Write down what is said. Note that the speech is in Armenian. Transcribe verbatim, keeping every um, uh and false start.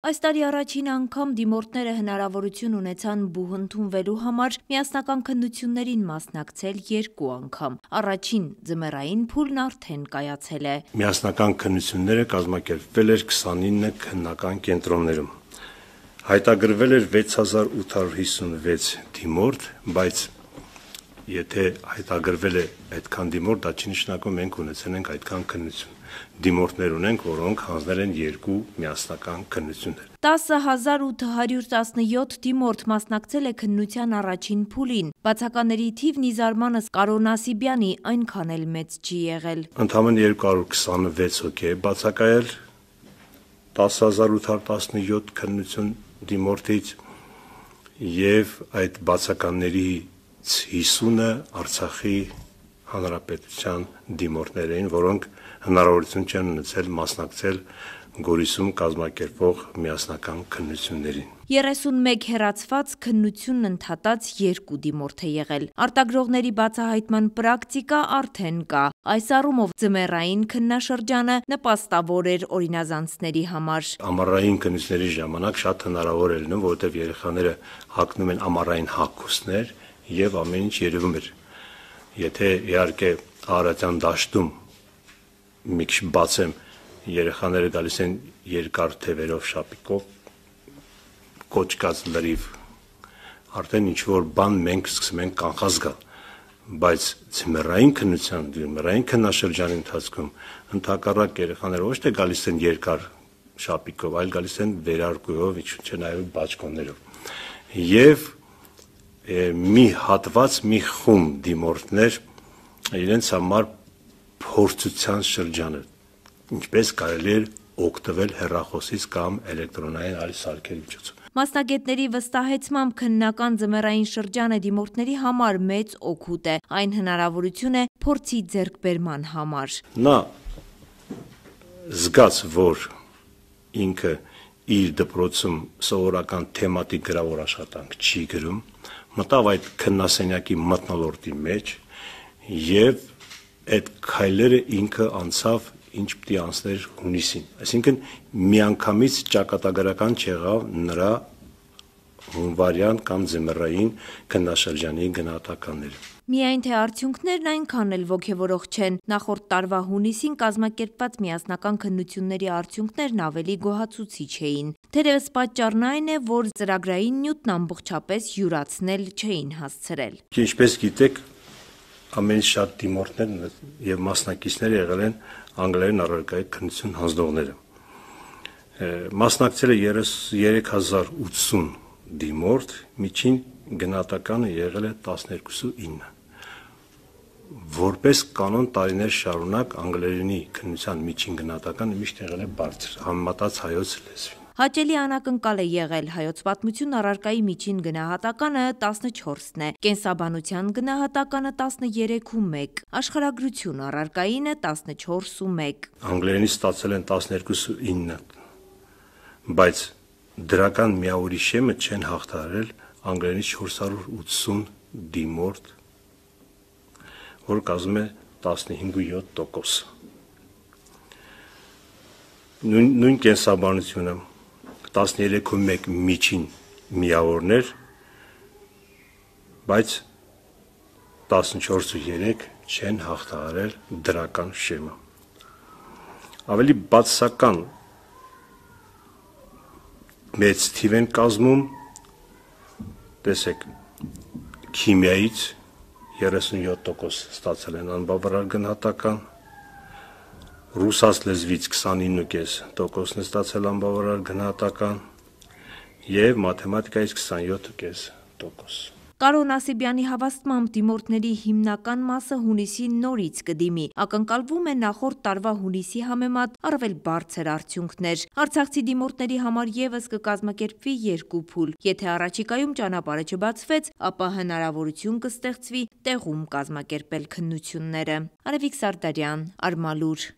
Այս տարի առաջին անգամ դիմորդները հնարավորություն ունեցան բուհ ընդունվելու համար միասնական քննություններին մասնակցել երկու անգամ։ Առաջին ձմեռային փուլն արդեն կայացել է։ Միասնական քննությունները կազմակերպվել էր քսանինը քննական կենտրոններում։ Հայտագրվել էր վեց հազար ութ հարյուր հիսունվեց դիմորդ, բայց եթե հայտագրվել է այդքան դիմորդ, դա չի նշանակում մենք ունեցել ենք այդքան քննություն։ Դիմորդներ ունենք, որոնք հանձնել են երկու միասնական քննություններ։ տասը հազար ութ հարյուր տասնյոթ դիմորդ մասնակցել է քննության առաջին փուլին։ Բացականների թիվն ի զարմանս Կարո Նասիբյանի այնքան էլ մեծ չի եղել։ Ընդամենը երկու հարյուր քսանվեց հոգի է բացակայել տասը հազար ութ հարյուր տասնյոթ քննություն դիմորդից եւ այդ բացականների հիսունը Արցախի Հանրապետության դիմորդներ էին, որոնք հնարավորություն չեն ունեցել մասնակցել Գորիսում կազմակերպվող միասնական քննություններին։ երեսունմեկ հեռացված քննությունն ընդհատած երկու դիմորդ է եղել։ Արտագրողների բացահայտման պրակտիկա արդեն կա։ Այս առումով ձմեռային քննաշրջանը նպաստավոր էր օրինազանցների համար։ Ամառային քննությունների ժամանակ շատ հնարավոր է լինում, որովհետև երեխաները հագնում են ամառային հագուստներ եւ ամեն ինչ երևում էր։ Եթե իհարկե Արարատյան դաշտում մի քիչ բացեմ, երեխաները գալիս են երկար թևերով շապիկով, կոճկած լրիվ, արդեն ինչ-որ բան մենք սկսում ենք կանխազգալ, բայց ձմեռային քննության, ձմեռային քննաշրջանի ընթացքում ընդհակառակ երեխաները ոչ թե գալիս են երկար շապիկով, այլ գալիս են վերարկուով, ինչ չէ նաև բաճկոններով։ Եվ մի հատված, մի խումբ դիմորդներ իրենց համար փորձության շրջանը, ինչպես կարելի է օգտվել հեռախոսից կամ էլեկտրոնային այլ սարքերի միջոցով։ Մասնագետների վստահեցմամբ քննական ձմեռային շրջանը դիմորդների համար մեծ օգուտ է, այն հնարավորություն է փորձի ձեռքբերման համար։ Նա զգաց, որ ինքը իր դպրոցում սովորական թեմատիկ գրավոր աշխատանք չի գրում, մտավ այդ քննասենյակի մթնոլորտի մեջ եւ այդ քայլերը ինքը անցավ ինչ պիտի անցներ հունիսին, այսինքն միանգամից ճակատագրական չեղավ նրա հունվարյան կամ ձմեռային քննաշրջանի գնահատականները։ Միայն թե արդյունքներն այնքան էլ ոգևորող չեն, նախորդ տարվա հունիսին կազմակերպված միասնական քննությունների արդյունքներն ավելի գոհացուցիչ էին։ Թերևս պատճառն այն է, որ ծրագրային նյութն ամբողջապես յուրացնել չէին հասցրել։ Ինչպես գիտեք, ամենից շատ դիմորդներ եւ մասնակիցներ եղել են անգլերեն առարկայի քննություն հանձնողները։ Մասնակցել է երեք հազար ութսուն դիմորդ, միջին գնահատականը եղել է տասներկուսը ինը։ Որպես կանոն տարիներ շարունակ անգլերենի քննության միջին գնահատականը միշտ եղել է բարձր, համեմատած հայոց լեզվին։ Հաճելի անակնկալ է եղել հայոց պատմություն առարկայի միջին գնահատականը տասնչորսն է, կենսաբանության գնահատականը տասներեքումեկ, աշխարհագրություն առարկայինը տասնչորսումեկ։ Անգլերենից ստացել են տասներկուսը ինը, բայց դրական միավորիշեմը չեն հաղթահարել անգլերենից չորս հարյուր ութսուն դիմորդ, որ կազմում է տասնհինգ ու յոթ տոկոս։ Նույն, նույն կենսաբանությունը տասներեքումեկ միջին միավորներ, բայց տասնչորսը երեք չեն հաղթահարել դրական շեմը։ Ավելի բացասական մեծ թիվ են կազմում, տեսեք, քիմիայից երեսունյոթ տոկոս ստացել են անբավարար գնահատական, ռուսաց լեզվից քսանինը կես տոկոսն է ստացել անբավարար գնահատական եւ մաթեմատիկայից քսանյոթ կես տոկոս։ Կարո Նասիբյանի հավաստմամբ դիմորդների հիմնական մասը հունիսին նորից կդիմի, ակնկալվում է նախորդ տարվա հունիսի համեմատ առավել բարձր արդյունքներ։ Արցախցի դիմորդների համար եւս կկազմակերպվի երկու փուլ։ Եթե առաջիկայում ճանապարհը չբացվեց, ապա հնարավորություն կստեղծվի տեղում կազմակերպել քննությունները։ Արևիկ Սարդարյան, Արմալուր։